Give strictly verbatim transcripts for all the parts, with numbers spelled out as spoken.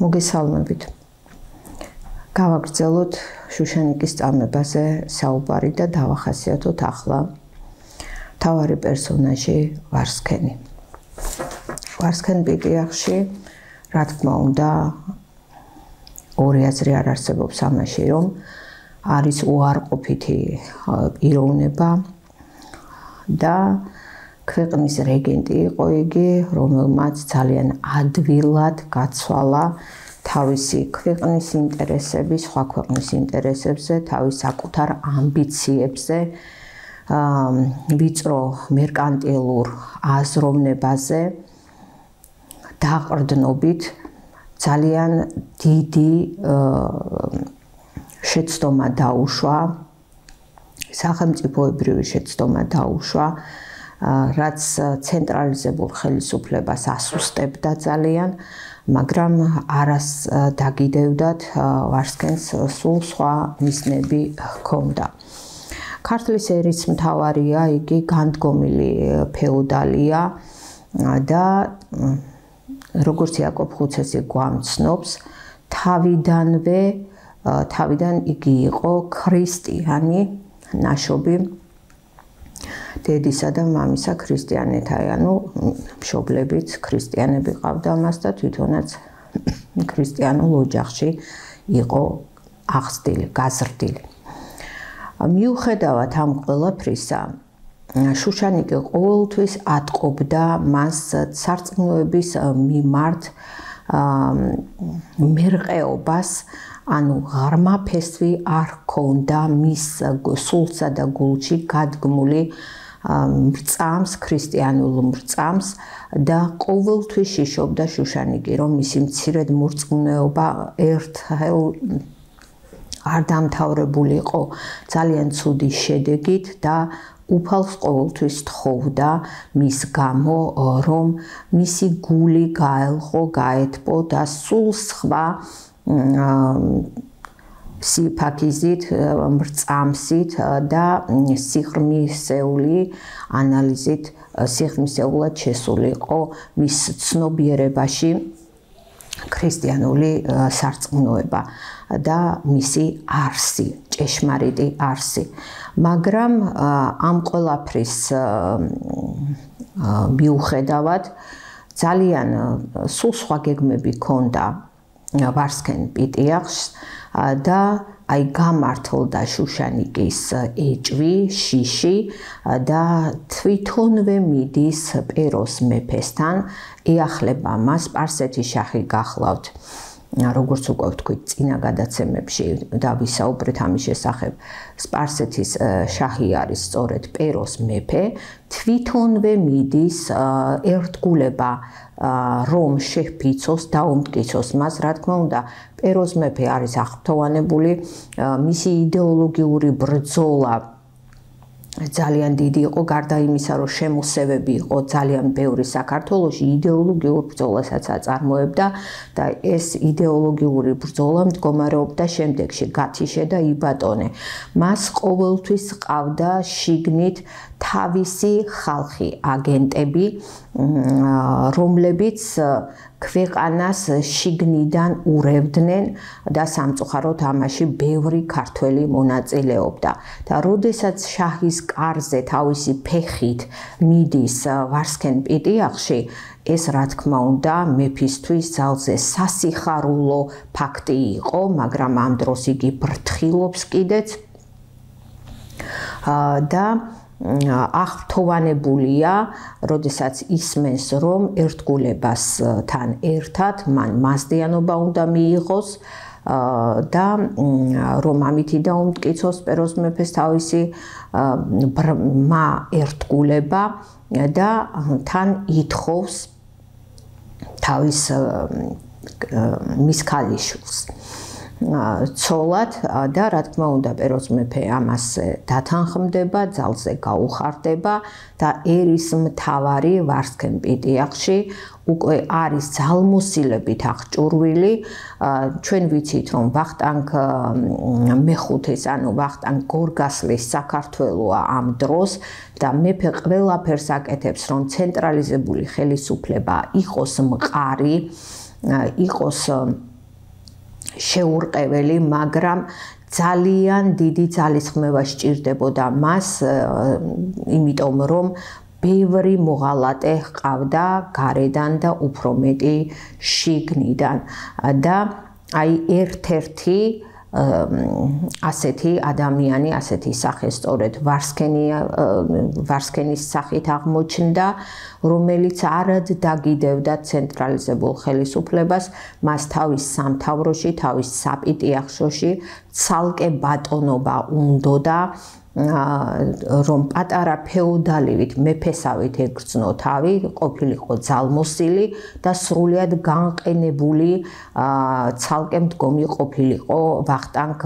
მოგესალმებით. გავაგრძელოთ შუშანიკის წამებაზე საუბარი და დავახასიათოთ ახლა მთავარი პერსონაჟი ვარსქენი. ვარსქენ პიტიახში, რა თქმა უნდა, ორი აზრი არ არსებობს ამაში, რომ არის უარყოფითი პიროვნება და ქვეყნის რეგენტი იყო იგი, რომელმაც ძალიან ადვილად გაცვალა თავისი ქვეყნის ინტერესები, სხვა ქვეყნის ინტერესებზე, თავის საკუთარ ამბიციებზე, ვიწრო მერკანტილურ აზროვნებაზე, დაყრდნობით ძალიან დიდი შეცდომა დაუშვა, სახელმწიფოებრივი შეცდომა დაუშვა, რაც ცენტრალიზებულ ხელისუფლებას ასუსტებდა ძალიან, მაგრამ არას დაგიდევდათ ვარსქენს სულ სხვა მიზნები ჰქონდა. ქართლის ერისმთავარია, იგი განდგომილი ფეოდალია და როგორც იაკობ ხუცესი გვამცნობს, თავიდანვე თავიდან იგი იყო ქრისტიანი ნაშობი დედისა და მამისა ქრისტიანეთა, ანუ მშობლებიც ქრისტიანები ყავდა მას და თვითონაც ქრისტიანულ ოჯახში იყო აღზრდილი, გაზრდილი. მიუხედავად ამ ყველაფრისა, შუშანიკი ყოველთვის ატყობდა მას სარწმუნოების მიმართ მერყეობას, ანუ ღრმა ფესვი არ ჰქონდა მის სულსა და გულში გადგმული მრწამს, ქრისტიანულ მრწამს და ყოველთვის შიშობდა შუშანიკი, რომ მისი მცირედ მორწმუნეობა ერთხელ არ დამთავრებულიყო ძალიან ცუდი შედეგით და უფალს ყოველთვის თხოვდა მის გამო, რომ მისი გული გაელხო, გაეთბო და სულ სხვა სიფაქიზით, მრწამსით და სიღრმისეული ანალიზით სიღრმისეულად შესულიყო მის ცნობიერებაში ქრისტიანული სარწმუნოება და მისი არსი, ჭეშმარიტი არსი. მაგრამ ამ ყველაფრის მიუხედავად ძალიან სულ სხვა გეგმები ჰქონდა ვარსქენ პიტიახს და აი გამართლდა შუშანიკის ეჭვი, შიში და თვითონვე მიდის პეროს მეფესთან, ეახლება მას, სპარსეთის შაჰი გახლავთ. როგორც უკვე ვთქვით, წინა გადაცემებში და ვისაუბრეთ ამის შესახებ, სპარსეთის შაჰი არის სწორედ პეროს მეფე, თვითონვე მიდის ერთგულება რომ შეჰფიცოს, დაუმტკიცოს მას, რა თქმა უნდა, პეროს მეფე არის აღფრთოვანებული, მისი იდეოლოგიური ბრძოლა ძალიან დიდი იყო, გარდა იმისა, რომ შემოსევები იყო ძალიან ბევრი საქართველოში, იდეოლოგიურ ბრძოლასაც აწარმოებდა და ეს იდეოლოგიური ბრძოლა მდგომარეობდა შემდეგში, გათიშე და იბატონე. მას ყოველთვის ყავდა შიგნით თავისი ხალხი, აგენტები, რომლებიც ქვეყანას შიგნიდან ურევდნენ და სამწუხაროდ ამაში ბევრი ქართველი მონაწილეობდა. და როდესაც შაჰის კარზე თავისი ფეხით მიდის ვარსქენ პიტიახში, ეს რა თქმა უნდა მეფისთვის ძალზე სასიხარულო ფაქტი იყო, მაგრამ ამ დროს იგი ბრთხილობს კიდეც და აღფრთოვანებულია, როდესაც ისმენს, რომ ერთგულებასთან ერთად მან მასდიანობა უნდა მიიღოს და რომ ამითი დაუმტკიცოს პეროს მეფეს თავისი ბრმა ერთგულება და თან ითხოვს თავის მის ქალიშვილს. ცოლად და რა თქმა უნდა პეროს მეფე ამას დათანხმდება, ძალზე გაუხარდება და ერისმთავარი ვარსქენ პიტიახში უკვე არის ძალმოსილებით აღჭურვილი. ჩვენ ვიცით რომ ვახტანგ მეხუთეს ანუ ვახტანგ გორგასლის საქართველოა ამ დროს და მეფე ყველაფერს აკეთებს რომ ცენტრალიზებული ხელისუფლება იყოს მყარი, იყოს შეურყეველი, მაგრამ ძალიან დიდი ძალისხმევა სჭირდებოდა მას, იმიტომ რომ ბევრი მოღალატე ჰყავდა გარედან და უფრო მეტი შიგნიდან და აი ერთ-ერთი ასეთი ადამიანი, ასეთი სახე სწორედ ვარსქენი ვარსქენის სახით აღმოჩნდა, რომელიც არად დაგიდევდა ცენტრალიზებულ ხელისუფლებას, მას თავის სამთავროში, თავის საპიტიახშოში ცალკე ბატონობა უნდოდა, რომ პატარა ფეოდალივით მეფესავით ეკრძნო თავი, ყოფილიყო ძალმოსილი და სრულიად განყენებული ცალკე მდგომი ყოფილიყო ვახტანგ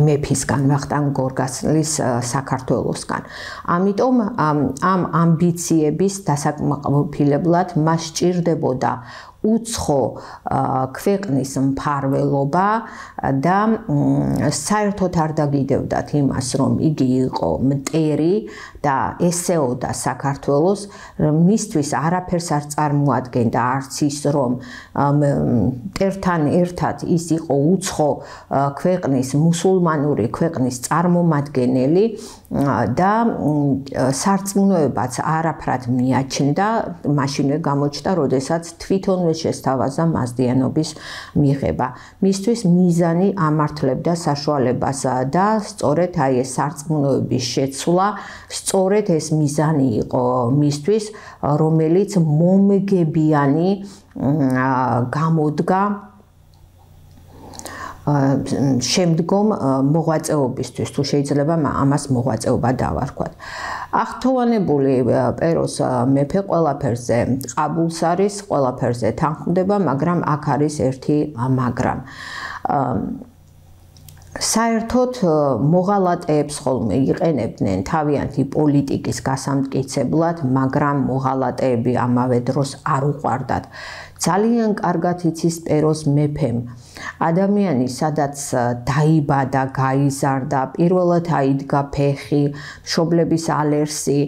მეფისგან, ვახტანგ გორგასლის საქართველოსგან. ამიტომ ამ ამბიციების დასაკმაყოფილებლად მას სჭირდებოდა უცხო ქვეყნის მფარველობა და საერთოდ არ დაგიდევდათ იმას, რომ იგი იყო მტერი და ესეოდა საქართველოს, მისთვის არაფერს არ წარმოადგენდა, არც ის, რომ მტერთან ერთად ის იყო უცხო ქვეყნის, მუსულმანური ქვეყნის წარმომადგენელი და სარწმუნოებაც არაფრად მიაჩნდა, მაშინვე გამოჩნდა, როდესაც თვითონვე შესთავაზა მაზდიანობის მიღება. მისთვის მიზანი ამართლებდა საშუალებას და სწორედ აი ეს სარწმუნოების შეცვლა, სწორედ ეს მიზანი იყო მისთვის, რომელიც მომგებიანი გამოდგა შემდგომ მოღვაწეობისთვის, თუ შეიძლება ამას მოღვაწეობა დავარქვათ. აღთხოვანებული პეროს მეფე ყველაფერზე ყაბულს არის, ყველაფერზე თანხმდება, მაგრამ აქ არის ერთი მაგრამ. საერთოდ მოღალატეებს ხოლმე იყენებდნენ თავიანთი პოლიტიკის გასამტკიცებლად, მაგრამ მოღალატეები ამავე დროს არ უყვარდათ. ძალიან კარგად იცის პეროს მეფემ ადამიანი, სადაც დაიბადა, გაიზარდა, პირველად აიდგა ფეხი, მშობლების ალერსი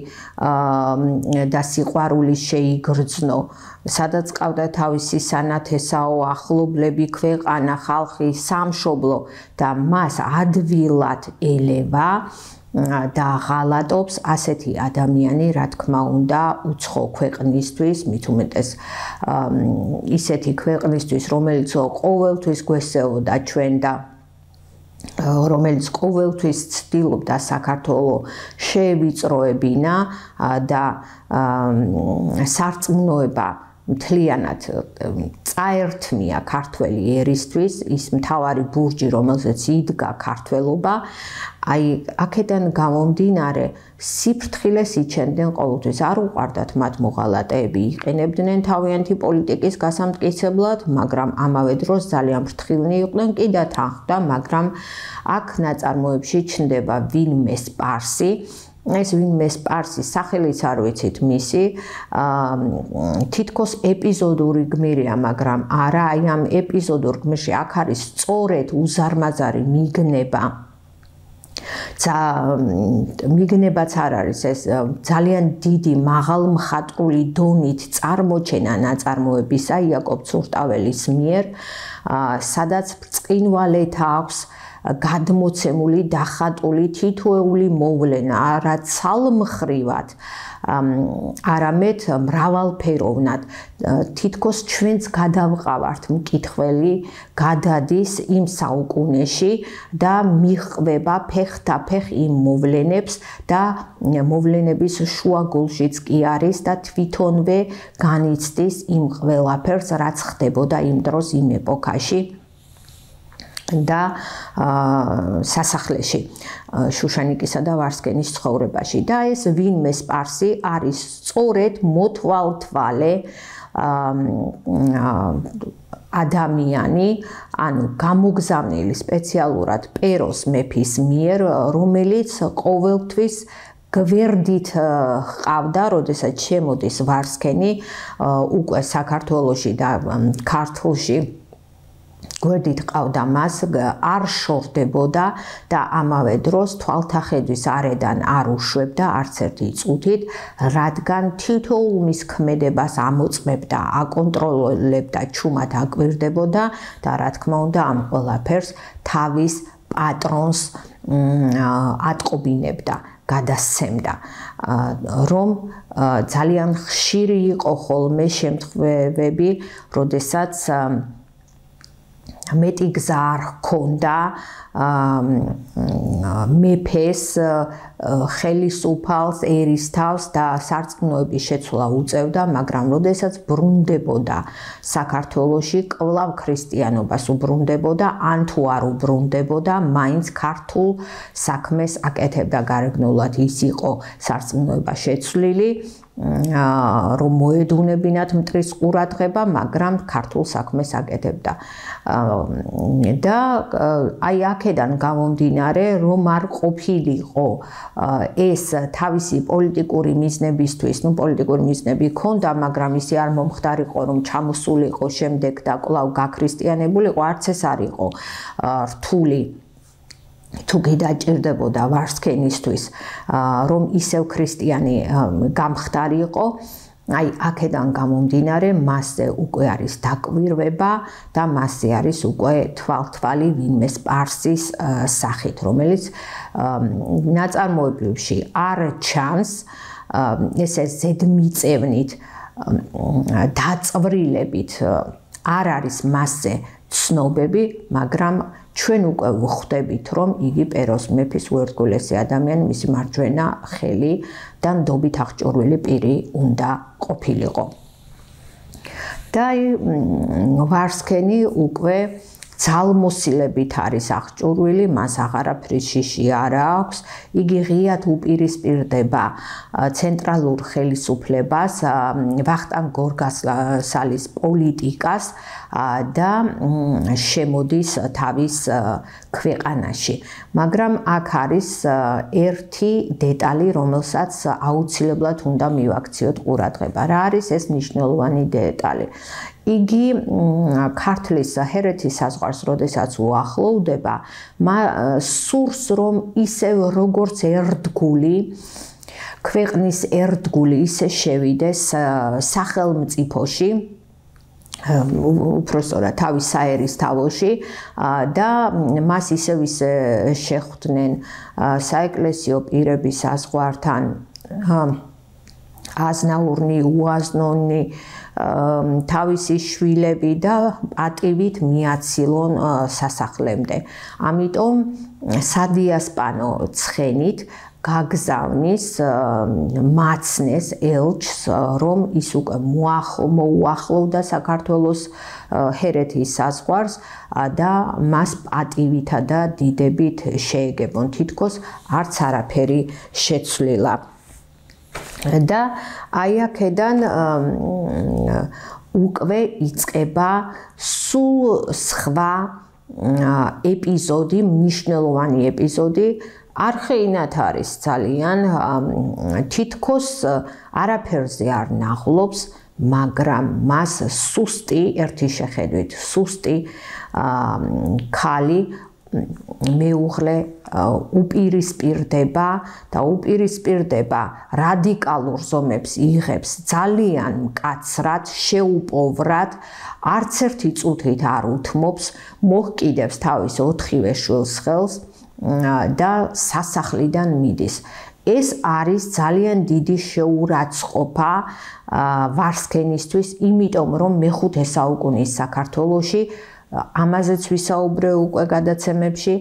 და სიყვარული შეიგრძნო, სადაც ყავდა თავისი სანათესაო ახლობლები, ქვეყანა, ხალხი, სამშობლო და მას ადვილად ელევა და ღალატობს ასეთი ადამიანი, რა თქმა უნდა, უცხო ქვეყნისთვის, მით უმეტეს ისეთი ქვეყნისთვის, რომელიც ყოველთვის გვესეოდა ჩვენ და რომელიც ყოველთვის ცდილობდა საქართველოს შეევიწროებინა და სარწმუნოება მთლიანად წაერთმია ქართველი ერისთვის, ის მთავარი ბურჯი, რომელზეც იდგა ქართველობა, აი აქედან გამომდინარე სიფრთხილეს იჩენდნენ ყოველთვის, არ უყვარდათ მათ მოღალატეები, იყენებდნენ თავიანთი პოლიტიკის გასამტკიცებლად, მაგრამ ამავე დროს ძალიან ფრთხილნი იყვნენ, კიდევ თანხმდა, მაგრამ აქ ნაწარმოებში ჩნდება ვინმე სპარსი, ეს ვინმე სპარსი, სახელიც არ ვიცით მისი, თითქოს ეპიზოდური გმირია, მაგრამ არა, აი ამ ეპიზოდურ გმირში აქ არის სწორედ უზარმაზარი მიგნება. მიგნებაც არ არის ეს ძალიან დიდი მაღალმხატვრული დონით წარმოჩენა ნაწარმოებისა იაკობ ცურტაველის მიერ, სადაც ბრწყინვალეთა აქვს გადმოცემული, დახატული თითოეული მოვლენა, არა ცალმხრივად, არამედ მრავალფეროვნად. თითქოს ჩვენც გადავყავართ მკითხველი, გადადის იმ საუკუნეში და მიჰყვება ფეხთაფეხ იმ მოვლენებს და მოვლენების შუაგულშიც კი არის და თვითონვე განიცდის იმ ყველაფერს, რაც ხდებოდა იმ დროს, იმ ეპოქაში და სასახლეში, შუშანიკისა და ვარსქენის ცხოვრებაში. და ეს ვინმე სპარსი არის სწორედ მოთვალთვალე ადამიანი, ანუ გამოგზავნილი სპეციალურად პეროს მეფის მიერ, რომელიც ყოველთვის გვერდით ყავდა, როდესაც შემოდის ვარსქენი უკვე საქართველოში და ქართლში გვერდით ყავდა მას, არ შორდებოდა და ამავე დროს თვალთახედვის არედან არ უშვებდა არც ერთი წუთით, რადგან თითოეულ მის ქმედებას ამოწმებდა, აკონტროლებდა, ჩუმად აკვირდებოდა და რა თქმა უნდა ამ ყველაფერს თავის პატრონს ატყობინებდა, გადასცემდა, რომ ძალიან ხშირი იყო ხოლმე შემთხვევები, როდესაც მეტი გზა არ ჰქონდა მეფეს, ხელისუფალს, ერისთავს და სარწმუნოების შეცვლა უწევდა, მაგრამ როდესაც ბრუნდებოდა საქართველოში, კვლავ ქრისტიანობას უბრუნდებოდა, ან თუ არ უბრუნდებოდა, მაინც ქართულ საქმეს აკეთებდა გარეგნულად, ის იყო სარწმუნოება შეცვლილი, რომ მოედუნებინათ მტრის ყურადღება, მაგრამ ქართულ საქმეს აკეთებდა. და აი აქედან გამომდინარე, რომ არ ყოფილიყო ეს თავისი პოლიტიკური მიზნებისთვის, ну პოლიტიკური მიზნები ჰქონდა, მაგრამ ისე არ მომხდარიყო, რომ ჩამოსულიყო შემდეგ და კვლავ გაქრისტიანებულიყო, არც ეს არ იყო რთული თუ გიდაჭირდებოდა ვარსქენისთვის, რომ ისევ ქრისტიანი გამხდარიყო, აი აქედან გამომდინარე, მასზე უკვე არის დაკვირვება და მასზე არის უკვე თვალთვალი ვინმე სპარსის სახით, რომელიც ნაწარმოებებში არ ჩანს, ესე ზედმიწევნით დაწვრილებით არ არის მასზე ცნობები, მაგრამ ჩვენ უკვე ვხვდებით, რომ იგი პეროს მეფის უერთგულესი ადამიანი, მისი მარჯვენა ხელი და ნდობით აღჭურვილი პირი უნდა ყოფილიყო. და ვარსქენი უკვე ძალმოსილებით არის აღჭურვილი, მას აღარაფრის შიში არ აქვს, იგი ღიად უპირისპირდება ცენტრალურ ხელისუფლებას, ვახტანგ გორგასალის პოლიტიკას და შემოდის თავის ქვეყანაში. მაგრამ აქ არის ერთი დეტალი, რომელსაც აუცილებლად უნდა მივაქციოთ ყურადღება. რა არის ეს მნიშვნელოვანი დეტალი? იგი ქართლის ჰერეთის საზღვარს, როდესაც უახლოვდება, სურს, რომ ისევ როგორც ერთგული, ქვეყნის ერთგული ისე შევიდეს სახელმწიფოში, უფრო სწორად თავის საერისთავოში და მას ისევ ისე შეხვდნენ საეკლესიო პირების საზღვართან, აზნაურნი, უაზნონი, თავისი შვილები და პატივით მიაცილონ სასახლემდე. ამიტომ სადიასპანო ცხენით გაგზავნის მაცნეს ელჩს, რომ ის უკვე მოუახლოვდა საქართველოს ჰერეთის საზღვარს და მას პატივითა და დიდებით შეეგებონ, თითქოს არც არაფერი შეცვლილა. და აი აქედან უკვე იწყება სულ სხვა ეპიზოდი, მნიშვნელოვანი ეპიზოდი, არხეინად არის ძალიან, თითქოს არაფერზე არ ნაღლობს, მაგრამ მას სუსტი, ერთი შეხედვით, სუსტი ქალი მეუღლე უპირისპირდება და უპირისპირდება რადიკალურ ზომებს იღებს ძალიან მკაცრად, შეუპოვრად, არც ერთი წუთით არ უთმობს, მოჰკიდებს თავის ოთხივე შვილს ხელს და სასახლიდან მიდის. ეს არის ძალიან დიდი შეურაცხყოფა ვარსქენისთვის, იმიტომ რომ მეხუთე საუკუნის საქართველოში, ამაზეც ვისაუბრე უკვე გადაცემებში,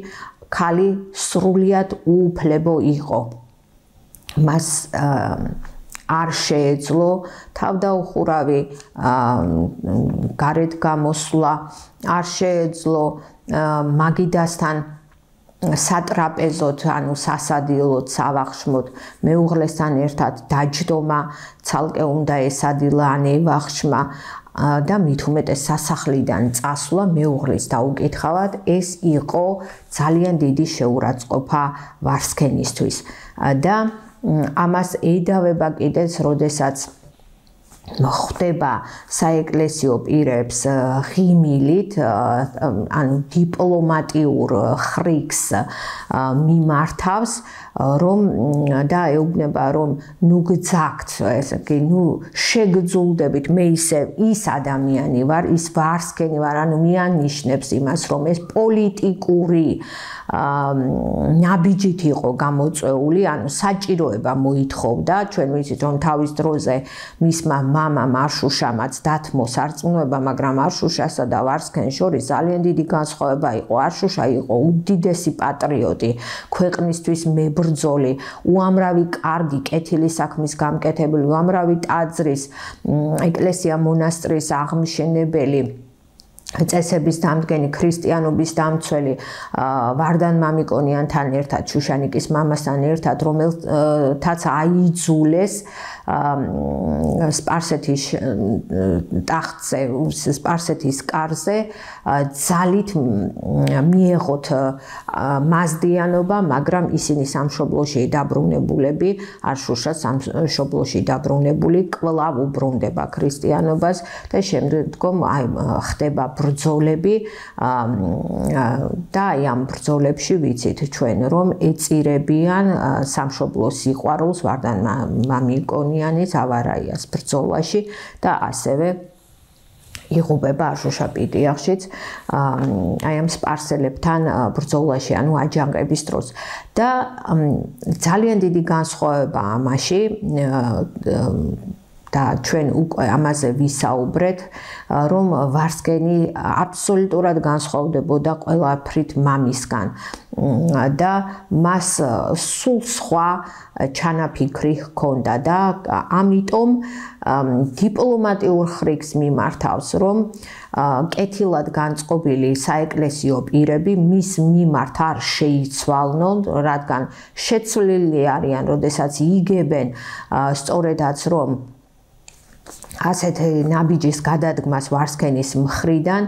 ქალი სრულიად უუფლებო იყო. მას არ შეეძლო თავდაუხურავი გარეთ გამოსვლა, არ შეეძლო მაგიდასთან სატრაპეზოთ, ანუ სასადილოთ, სავახშმოთ, მეუღლესთან ერთად დაჯდომა, ცალკე უნდა ესადილა ან ევახშმა, და მით უმეტეს სასახლიდან წასვლა მეუღლის დაუკითხავად ეს იყო ძალიან დიდი შეურაცხყოფა ვარსქენისთვის და ამას ეიდავება კიდეც, როდესაც ხდება საეკლესიო პირებს ღიმილით, ანუ დიპლომატიურ ხრიგს მიმართავს, რომ და ეუბნება, რომ ნუ გძაგთ, ესე იგი, ნუ შეგძულდებით, მე ისევ ის ადამიანი ვარ, ის ვარსქენი ვარ, ანუ მიანიშნებს იმას, რომ ეს პოლიტიკური ნაბიჯით იყო გამოწვეული, ანუ საჭიროება მოითხოვდა, ჩვენ ვიცით, რომ თავის დროზე მისმა მამამ არშუშამაც დათმო სარწმუნოება, მაგრამ არშუშასა და ვარსქენს შორის ძალიან დიდი განსხვავება იყო. არშუშა იყო უდიდესი პატრიოტი, ქვეყნისთვის მებრძოლი, უამრავი კარგი კეთილი საქმის გამკეთებელი, უამრავი ტაძრის, ეკლესია მონასტრის აღმშენებელი, წესების დამდგენი, ქრისტიანობის დამცველი, ვარდან მამიკონიანთან ერთად, შუშანიკის მამასთან ერთად, რომელთაც აიძულეს სპარსეთის ტახტზე, სპარსეთის კარზე ძალით მიეღოთ მაზდიანობა, მაგრამ ისინი სამშობლოში დაბრუნებულები, არშუშა სამშობლოში დაბრუნებული კვლავ უბრუნდება ქრისტიანობას და შემდგომ აი ხდება ბრძოლები და აი ამ ბრძოლებში ვიცით ჩვენ, რომ ეწირებიან სამშობლო სიყვარულს ვარდან მამიკონიანის ავარაიას ბრძოლაში და ასევე იღუპება არშუშაპიტიახშიც აი ამ სპარსელებთან ბრძოლაში, ანუ აჯანყების დროს და ძალიან დიდი განსხვავება ამაში და ჩვენ უკვე ამაზე ვისაუბრეთ, რომ ვარსქენი აბსოლუტურად განსხვავდებოდა ყველაფრით მამისგან და მას სულ სხვა ჩანაფიქრი ჰქონდა და ამიტომ დიპლომატიურ ხრიგს მიმართავს, რომ კეთილად განწყობილი საეკლესიო პირები მის მიმართ არ შეიცვალნონ, რადგან შეცვლილი არიან, როდესაც იგებენ სწორედაც, რომ ასეთი ნაბიჯის გადადგმას ვარსქენის მხრიდან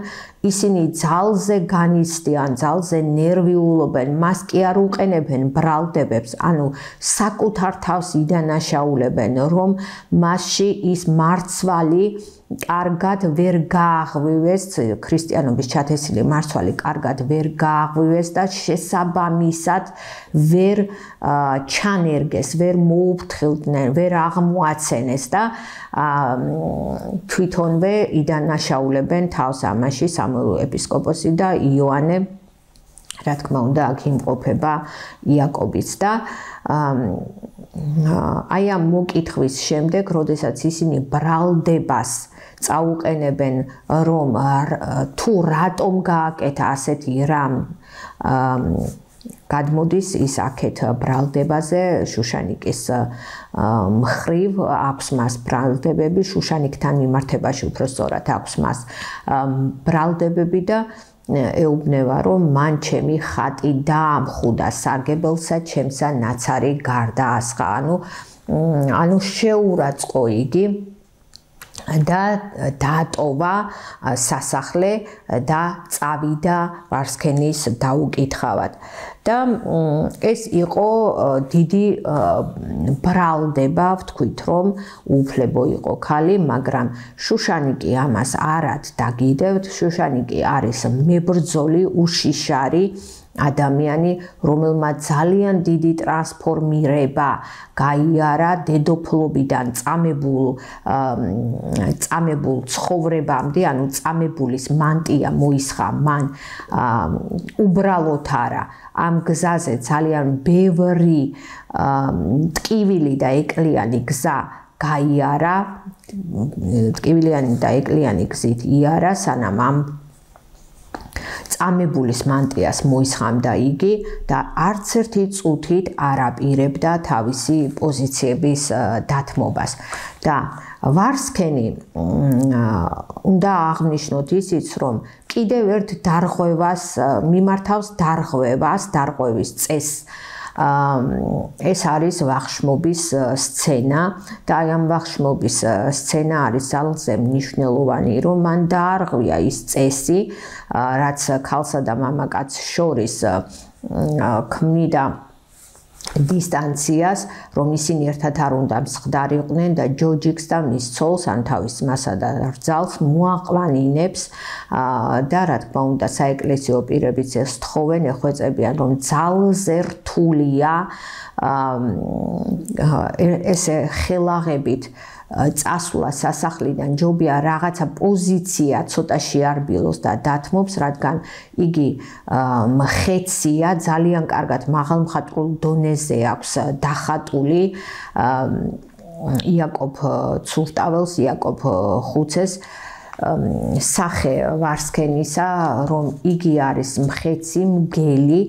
ისინი ძალზე განიცდიან, ძალზე ნერვიულობენ, მას კი არ უყენებენ ბრალდებებს, ანუ საკუთარ თავს იდანაშაულებენ, რომ მასში ის მარცვალი კარგად ვერ გააღვივეს, ქრისტიანობის ჩათესილი მარცვალი კარგად ვერ გააღვივეს და შესაბამისად ვერ ჩანერგეს, ვერ მოუფრთხილდნენ, ვერ აღმოაცენეს და თვითონვე იდანაშაულებენ თავს ამაში სამოელ ეპისკოპოსი და იოანე, რა თქმა უნდა, აქ იმყოფება იაკობიც და აი ამ მოკითხვის შემდეგ, როდესაც ისინი ბრალდებას წაუყენებენ, რომ თუ რატომ გააკეთა ასეთი რამ, გადმოდის ის აქეთ ბრალდებაზე, შუშანიკის მხრივ აქვს მას ბრალდებები, შუშანიკთან მიმართებაში უფრო სწორად აქვს მას ბრალდებები და ეუბნება, რომ მან ჩემი ხატი დაამხუდა სარგებელსა, ჩემსა ნაცარი გარდაასხა, ანუ ანუ შეურაცხო იგი და დაატოვა სასახლე და წავიდა ვარსქენის დაუკითხავად. და ეს იყო დიდი ბრალდება, ვთქვით, რომ უფლებო იყო ქალი, მაგრამ შუშანიკი ამას არად დაგიდევთ, შუშანიკი არის მებრძოლი, უშიშარი ადამიანი, რომელმაც ძალიან დიდი ტრანსფორმირება გაიარა დედოფლობიდან წამებულ წამებულ ცხოვრებამდე, ანუ წამებულის მანტია მოისხა მან უბრალოდ არა, ამ გზაზე ძალიან ბევრი ტკივილი და ეკლიანი გზა გაიარა, ტკივილიანი და ეკლიანი გზით იარა, სანამ ამ წამებულის მანტიას მოისხამდა იგი და არც ერთი წუთით არ აპირებდა თავისი პოზიციების დათმობას. და ვარსქენი უნდა აღნიშნოთ ისიც, რომ კიდევ ერთ დარღვევას მიმართავს, დარღვევას, დარღვევის წესს ეს არის ვახშმობის სცენა და აი ამ ვახშმობის სცენა არის ძალზე მნიშვნელოვანი, რომ მან დაარღვია ის წესი, რაც ქალსა და მამაკაცს შორის ქმნიდა დისტანციას, რომ ისინი ერთად არ უნდა მსხვდარიყვნენ და ჯოჯიკს და მის ცოლს, ან თავის ძმასა და რძალს მოაყვანინებს და რა თქმა უნდა საეკლესიო პირებიც ეს თხოვენ, ეხვეწებიან, რომ ძალზე რთულია ესე ხელაღებით წასვლა სასახლიდან, ჯობია რაღაცა პოზიცია ცოტა შეარბილოს და დათმობს, რადგან იგი მხეცია, ძალიან კარგად მაღალმხატვრულ დონეზე აქვს დახატული იაკობ ცურტაველს, იაკობ ხუცეს სახე ვარსქენისა, რომ იგი არის მხეცი, მგელი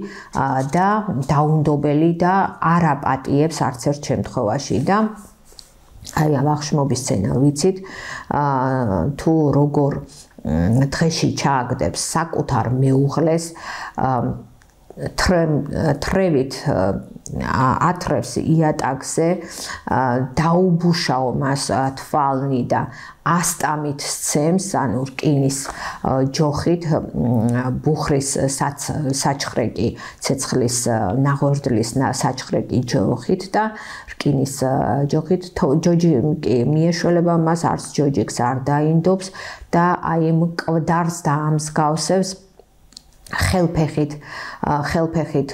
და დაუნდობელი და არ აპატიებს არც ერთ შემთხვევაში და აი ამ ვახშმობის სცენა ვიცით, თუ როგორ დღეში ჩააგდებს საკუთარ მეუღლეს, თრევით ათრევს იატაკზე, დაუბუშაო მას თვალნი და ასტამით სცემს, ანუ რკინის ჯოხით, ბუხრის საჩხრეკი, ცეცხლის ნაღვერდლის საჩხრეკი ჯოხით და რკინის ჯოხით ჯოჯიკი მიეშველება მას, არც ჯოჯიკს არ დაინდობს და აი მკვდარს დაამსგავსებს ხელფეხით ხელფეხით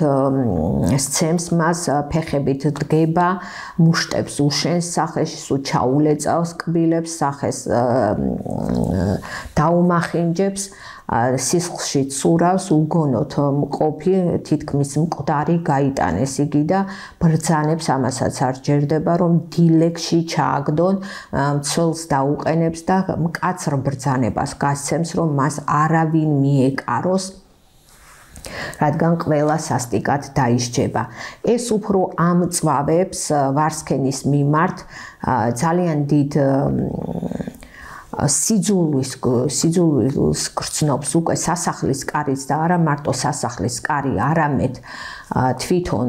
სცემს მას, ფეხებით დგება, მუშტებს უშენს სახეში, სულ ჩაულეწავს კბილებს, სახეს დაუმახინჯებს, სისხლში ცურავს, უგონოთ მყოფი, თითქმის მკვდარი გაიტანეს იგი და ბრძანებს, ამასაც არ ჯერდება, რომ დილეგში ჩააგდონ, მცველს დაუყენებს და მკაცრ ბრძანებას გასცემს, რომ მას არავინ მიეკაროს, რადგან ყველა სასტიკად დაისჯება. ეს უფრო ამწვავებს ვარსქენის მიმართ ძალიან დიდ სიძულვის სიძულვილს გრძნობს უკვე სასახლის კარიც და არა მარტო სასახლის კარი, არამედ თვითონ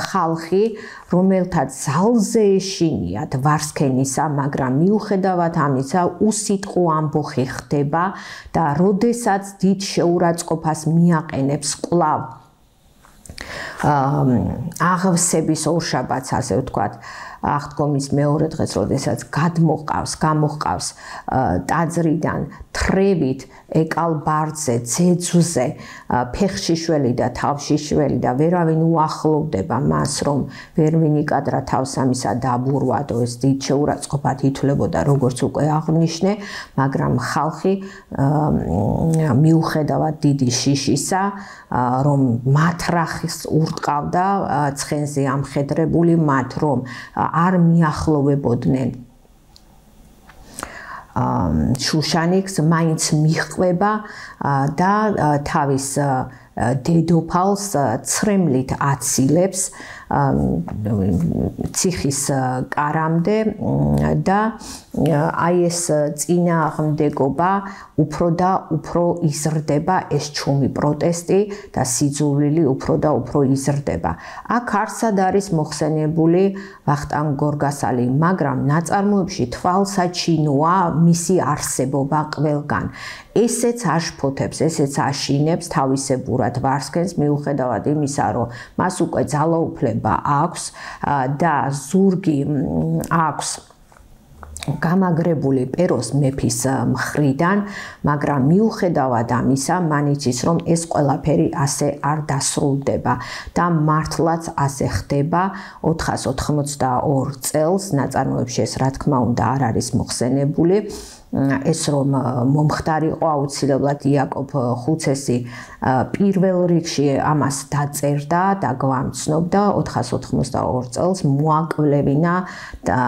ხალხი, რომელთაც ძალზე ეშინიათ ვარსქენისა, მაგრამ მიუხედავად ამისა უსიტყვო ამბოხი ხდება და როდესაც დიდ შეურაცხყოფას მიაყენებს კვლავ აღსების ორშაბათს, ასე ვთქვათ, აღდგომის მეორე დღეს, როდესაც გადმოყავს, გამოყავს ტაძრიდან თრევით ეკალბარდზე, ძეძვზე, ფეხში შველი და თავში შველი და ვერავინ უახლოვდება მას, რომ ვერ ვინიკადრა თავს ამისა დაბურვადო, ეს დიდ შეურაცხყოფად ითვლებოდა, როგორც უკვე აღვნიშნე, მაგრამ ხალხი მიუხედავად დიდი შიშისა, რომ მათრახის ურტყავდა ცხენზე ამხედრებული მათ, რომ არ მიახლოვებოდნენ შუშანიკს, მაინც მიჰყვება და თავის დედოფალს ცრემლით აცილებს ციხის კარამდე და აი ეს წინააღმდეგობა უფრო და უფრო იზრდება, ეს ჩუმი პროტესტი და სიძულვილი უფრო და უფრო იზრდება. აქ არსად არის მოხსენებული ვახტანგ გორგასალი, მაგრამ ნაწარმოებში თვალსაჩინოა მისი არსებობა ყველგან. ესეც აშფოთებს, ესეც აშინებს თავისებურად ვარსქენს, მიუხედავად იმისა, რომ მას უკვე ძალაუფლება აქვს და ზურგი აქვს გამაგრებული პეროს მეფის მხრიდან, მაგრამ მიუხედავად ამისა, მან იცის, რომ ეს ყველაფერი ასე არ დასრულდება და მართლაც ასე ხდება. ოთხას ოთხმოცდაორ წელს ნაწარმოებში ეს რა თქმა უნდა არ არის მოხსენებული. ეს რომ მომხდარიყო აუცილებლად იაკობ ხუცესი პირველ რიგში ამას დაწერდა და გვამცნობდა ოთხას ოთხმოცდაორ წელს მოაკლევინა და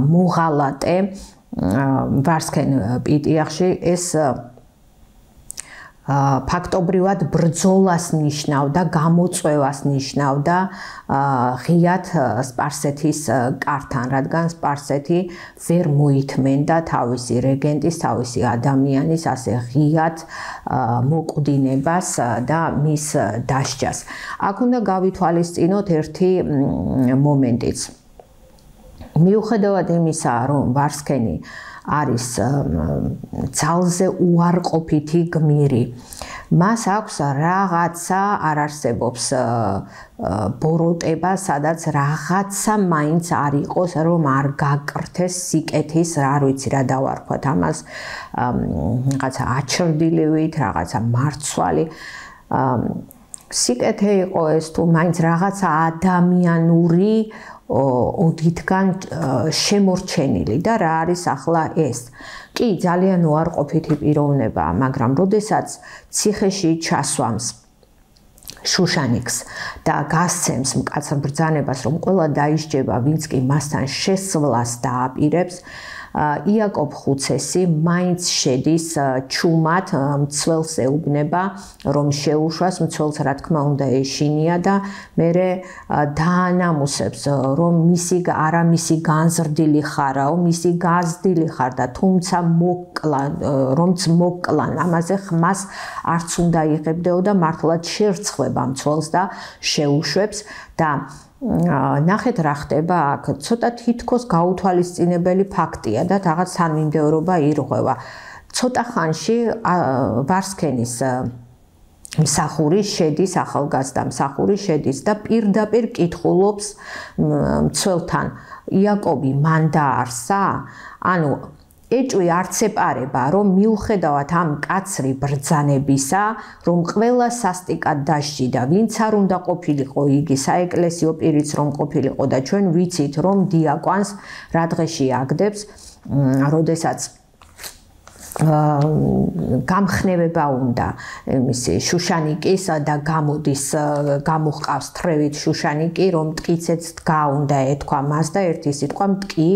მოღალატე ვარსქენ პიტიახში ეს ფაქტობრივად ბრძოლას ნიშნავდა, გამოწვევას ნიშნავდა ღიად სპარსეთის კართან, რადგან სპარსეთი ვერ მოითმენდა თავისი რეგენტის, თავისი ადამიანის ასე ღიად მოკვდინებას და მის დასჯას. აქ უნდა გავითვალისწინოთ ერთი მომენტიც. მიუხედავად იმისა, რომ ვარსქენი არის ძალზე უარყოფითი გმირი. მას აქვს რაღაცა არ არსებობს ბოროტება, სადაც რაღაცა მაინც არ იყოს, რომ არ გაკრთეს სიკეთის, არ ვიცი რა დავარქვათ ამას, რაღაცა აჩრდილივით, რაღაცა მარცვალი. სიკეთე იყო ეს თუ მაინც რაღაცა ადამიანური ოდითგან შემორჩენილი და რა არის ახლა ეს. კი, ძალიან უარყოფითი პიროვნებაა, მაგრამ როდესაც ციხეში ჩასვამს შუშანიკს და გასცემს მკაცრ ბრძანებას, რომ ყველა დაისჯება, ვინც კი მასთან შესვლას დააპირებს, იაკობ ხუცესი მაინც შედის ჩუმად, მცველს ეუბნება, რომ შეუშვას, მცველს რა თქმა უნდა ეშინია და მერე დაანამუსებს, რომ მისი არა მისი განზრდილი ხარაო, მისი გაზრდილი ხარ და თუმცა მოკლან, რომც მოკლან, ამაზე ხმას არც უნდა იღებდეო და მართლაც შერცხვება მცველს და შეუშვებს და ნახეთ რა ხდება აქ, ცოტა თითქოს გაუთვალისწინებელი ფაქტია და რაღაც თანმიმდევრობა ირღვევა. ცოტა ხანში ვარსქენის მსახური შედის, ახალგაზრდა მსახური შედის და პირდაპირ კითხულობს მცველთან, იაკობი მან დაარსა? ანუ ეჭვი არც ეპარება, რომ მიუხედავად ამ მკაცრი ბრძანებისა, რომ ყველა სასტიკად დასჯიდა, ვინც არ უნდა ყოფილიყო იგი საეკლესიო პირიც რომ ყოფილიყო და ჩვენ ვიცით, რომ დიაკვანს რა დღეში აგდებს, როდესაც გამხნევება უნდა იმისი შუშანიკის და გამოდის გამოჰყავს თრევით შუშანიკი, რომ მტკიცეც დგა უნდა ეთქვა მას და ერთი სიტყვა მტკი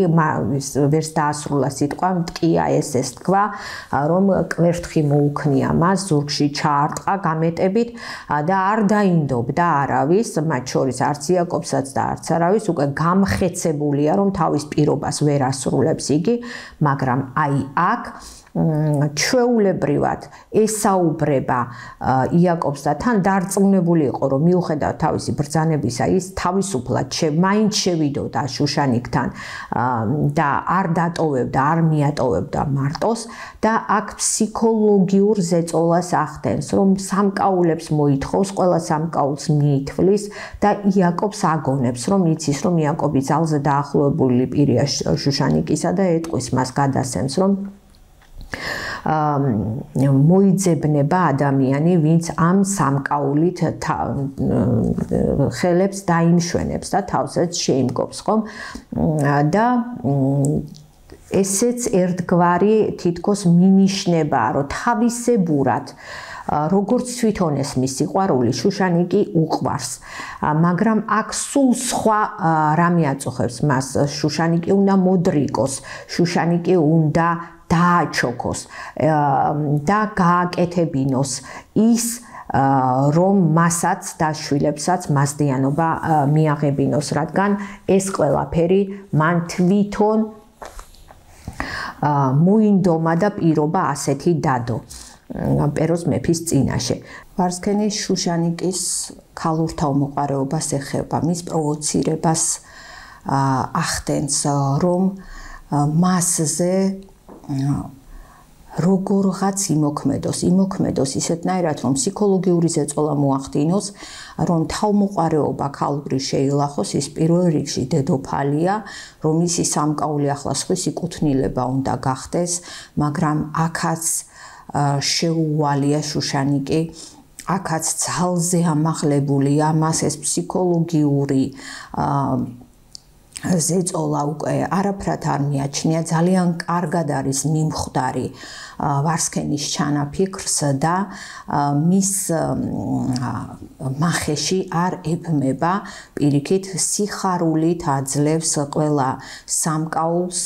ვერს დაასრულა სიტყვა მტკია ეს ეს თქვა, რომ კვერთხი მოუქნია მას, ზურგში ჩაარტყა გამეტებით და არ დაინდობდა არავის, მათ შორის არც იაკობსაც და არც არავის, უკვე გამხეცებულია, რომ თავის პირობას ვერ ასრულებს იგი, მაგრამ აი აქ ჩვეულებრივად ესაუბრება იაკობს და თან დარწმუნებული იყო, რომ მიუხედავად თავისი ბრძანებისა, ის თავისუფლად მაინც შევიდოდა შუშანიკთან და არ დატოვებდა, არ მიატოვებდა მარტოს და აქ ფსიქოლოგიურ ზეწოლას ახდენს, რომ სამკაულებს მოითხოვს, ყველა სამკაულს მიითვლის და იაკობს აგონებს, რომ იცის, რომ იაკობი ძალზე დაახლოებული პირია შუშანიკისა და ეტყვის მას გადასცემს, რომ მოიძებნება ადამიანი, ვინც ამ სამკაულით ხელებს დაიმშვენებს და თავსაც შეიმგობს, ხომ? და ესეც ერთგვარი თითქოს მინიშნებაა, რომ თავისებურად როგორც თვითონ ეს მის სიყვარული შუშანიკი უყვარს, მაგრამ აქ სულ სხვა რამე აწუხებს მას, შუშანიკი უნდა მოდრიკოს, შუშანიკი უნდა დააჩოქოს და გააკეთებინოს ის, რომ მასაც და შვილებსაც მასდიანობა მიაღებინოს, რადგან ეს ყველაფერი მან თვითონ მოინდომა და პირობა ასეთი დადო პეროს მეფის წინაშე. ვარსქენი შუშანიკის ქალურ თავმოყარეობას ეხება, მის პროვოცირებას ახდენს, რომ მასზე როგორღაც იმოქმედოს, იმოქმედოს ისეთნაირად, რომ ფსიქოლოგიური ზეწოლა მოახდინოს, რომ თავმოყარეობა ქალური შეილახოს, ის პირველ რიგში დედოფალია, რომ ისი სამკაული ახლა სხვისი კუთვნილება უნდა გახდეს, მაგრამ აქაც შეუვალია შუშანიკი, აქაც ძალზე ამაღლებულია, მას ეს ფსიქოლოგიური ზეწოლა უკვე არაფრად არ მიაჩნია, ძალიან კარგად არის მიმხვდარი ვარსქენის ჩანაფიქრს და მის მახეში არ ებმება პირიქით სიხარულით აძლევს ყველა სამკაულს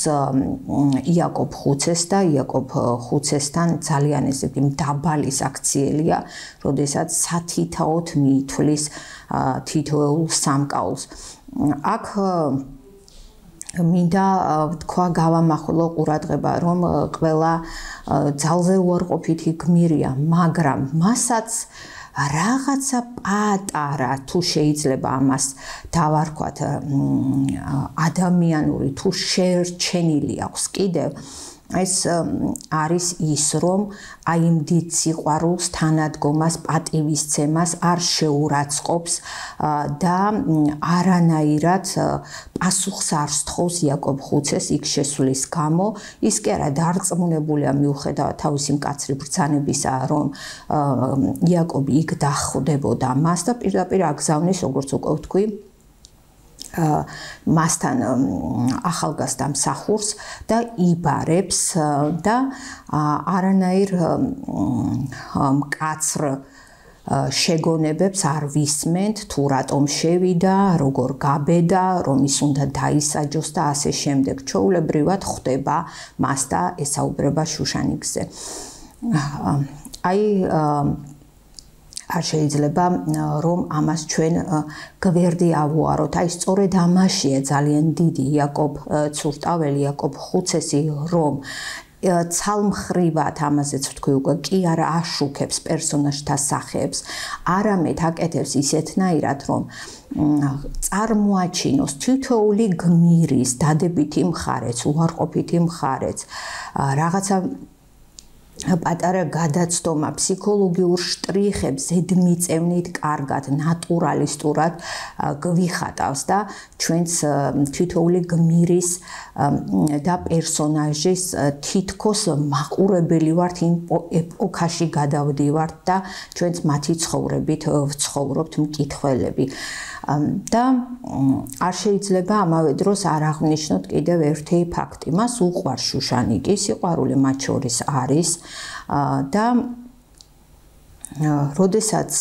იაკობ ხუცეს და იაკობ ხუცესთან ძალიან ესეთი მდაბალი საქციელია, როდესაც სათითაოდ მიითვლის თითოეულ სამკაულს. აქ მინდა თქვა გავამახვილო ყურადღება, რომ ყველა ძალზე უარყოფითი გმირია, მაგრამ მასაც რაღაცა პატარა თუ შეიძლება ამას დავარქვათ ადამიანური თუ შერჩენილი აქვს კიდევ ეს არის ის, რომ აი იმ დიდ სიყვარულს, თანადგომას, პატივისცემას არ შეურაცხყოფს და არანაირად პასუხს არ სთხოვს იაკობ ხუცეს იქ შესვლის გამო. ის კი არა დარწმუნებულია მიუხედავად თავისი მკაცრი ბრძანებისა, რომ იაკობი იქ დახვდებოდა მას და პირდაპირ აგზავნის, როგორც უკვე ვთქვი, მასთან ახალგაზრდა მსახურს და იბარებს და არანაირ მკაცრ შეგონებებს არ ვისმენთ, თუ რატომ შევიდა, როგორ გაბედა, რომ ის უნდა დაისაჯოს და ასე შემდეგ. ჩვეულებრივად ხვდება მას და ესაუბრება შუშანიკზე. აი არ შეიძლება რომ ამას ჩვენ გვერდი ავუაროთ. აი სწორედ ამაშია ძალიან დიდი იაკობ ცურტაველი, იაკობ ხუცესი, რომ ცალმხრივად ამაზეც ვთქვი უკვე კი არა აშუქებს პერსონაჟთა სახეებს, არამედ აკეთებს ისეთნაირად, რომ წარმოაჩინოს თითოეული გმირის დადებითი მხარეც, უარყოფითი მხარეც, რაღაცა პატარა გადაცდომა, ფსიქოლოგიურ შტრიხებს ზედმიწევნით კარგად, ნატურალისტურად გვიხატავს და ჩვენს თითოეული გმირის და პერსონაჟის თითქოს მაყურებელი ვართ, იმ ეპოქაში გადავდივართ და ჩვენც მათი ცხოვრებით ვცხოვრობთ მკითხველები. და არ შეიძლება ამავე დროს არ აღვნიშნოთ კიდევ ერთი ფაქტი. მას უყვარს შუშანიკი, სიყვარული მათ შორის არის და როდესაც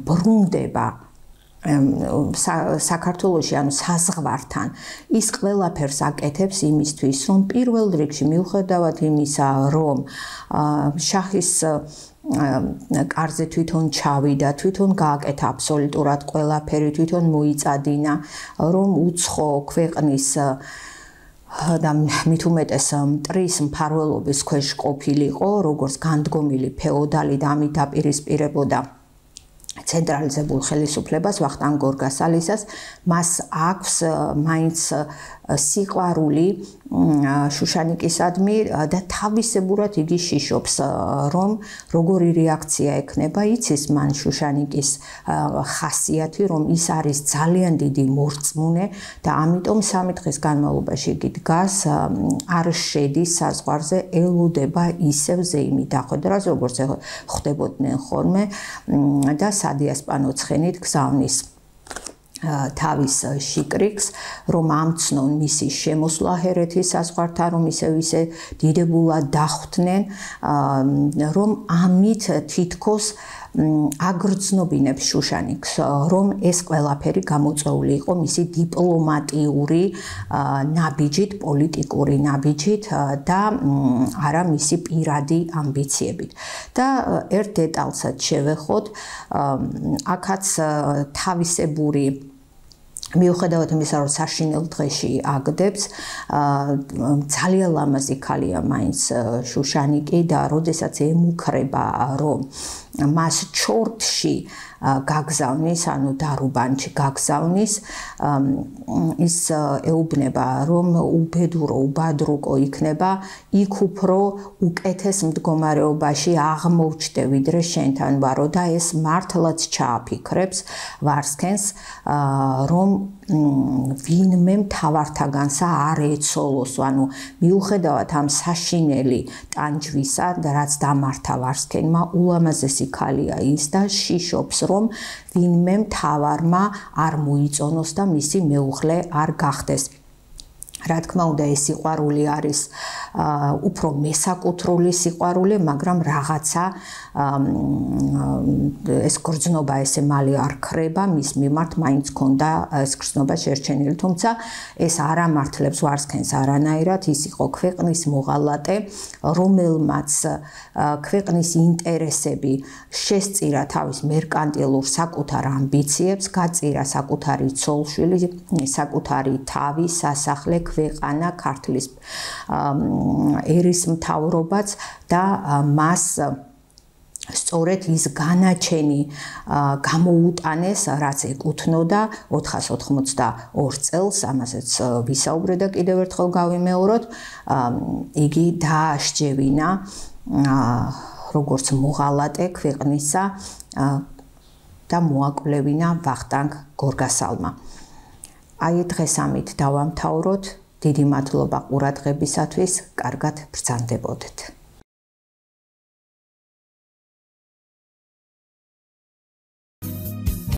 ბრუნდება საქართველოში, ანუ საზღვართან, ის ყველაფერს აკეთებს იმისთვის, რომ პირველ რიგში მიუხედავად იმისა, რომ შაჰის კარზე თვითონ ჩავიდა, თვითონ გააკეთა აბსოლუტურად ყველაფერი, თვითონ მოიწადინა, რომ უცხო ქვეყნის და მით უმეტეს მტრის მფარველობის ქვეშ ყოფილიყო, როგორც განდგომილი ფეოდალი და ამით დაპირისპირებოდა ცენტრალიზებულ ხელისუფლებას ვახტანგ გორგასალისას, მას აქვს მაინც სიყვარული შუშანიკისადმი და თავისებურად იგი შიშობს, რომ როგორი რეაქცია ექნება, იცის მან შუშანიკის ხასიათი, რომ ის არის ძალიან დიდი მორწმუნე და ამიტომ სამი დღის განმავლობაში იგი დგას, არ შედის საზღვარზე, ელოდება ისევ ზეიმი დახვედრას, როგორც ხდებოდნენ ხოლმე და სადიასპანო ცხენით გზავნის თავის შიკრიკს, რომ ამცნონ მისი შემოსვლა ჰერეთის საზღვართან, რომ ისევ ისე დიდებულად დახვდნენ, რომ ამით თითქოს აგრძნობინებს შუშანიკს, რომ ეს ყველაფერი გამოწვეული იყო მისი დიპლომატიური ნაბიჯით, პოლიტიკური ნაბიჯით და არა მისი პირადი ამბიციებით. და ერთ დეტალსაც შევეხოთ, აქაც თავისებური მიუხედავად იმისა, რომ საშინელ დღეში აგდებს, ძალიან ლამაზი ქალია მაინც შუშანიკი და როდესაც ემუქრება, რომ მას ჩორტში გაგზავნის, ანუ დარუბანში გაგზავნის, ის ეუბნება, რომ უბედურო, უბადრუკო იქნება, იქ უფრო უკეთეს მდგომარეობაში აღმოჩნდე, ვიდრე შენთან ვარო და ეს მართლაც ჩააფიქრებს ვარსქენს, რომ ვინმე მთავართაგანსა არ ეცოლოს, ანუ მიუხედავად ამ საშინელი ტანჯვისა, რაც დამართა ვარსქენმა, ულამაზესი ქალია ის და შიშობს, რომ ვინმე მთავარმა არ მოიწონოს და მისი მეუღლე არ გახდეს. რა თქმა უნდა, ეს სიყვარული არის უფრო მესაკუთრული სიყვარული, მაგრამ რაღაცა ეს გრძნობა ესე მალე არ ხრება, მის მიმართ მაინც ქონდა ეს გრძნობა შერჩენილი, თუმცა ეს არ ამართლებს ვარსქენს არანაირად, ის იყო ქვეყნის მოღალატე, რომელმაც ქვეყნის ინტერესები შესწირა თავის მერკანტილურ საკუთარ ამბიციებს, გაწირა საკუთარი ცოლშვილი, საკუთარი თავი, სასახლე, ქვეყანა, ქართლის ერისმთავრობაც და მას სწორედ ის განაჩენი გამოუტანეს, რაც ეკუთვნოდა ოთხას ოთხმოცდაორ წელს, ამასაც ვისაუბრე და კიდევ ერთხელ გავიმეოროთ, იგი დააშჯევინა როგორც მოღალატე ქვეყნისა და მოაკვლევინა ვახტანგ გორგასალმა. აი დღეს ამით დავამთავროთ. დიდი მადლობა ყურადღებისათვის, კარგად ბრძანდებოდეთ.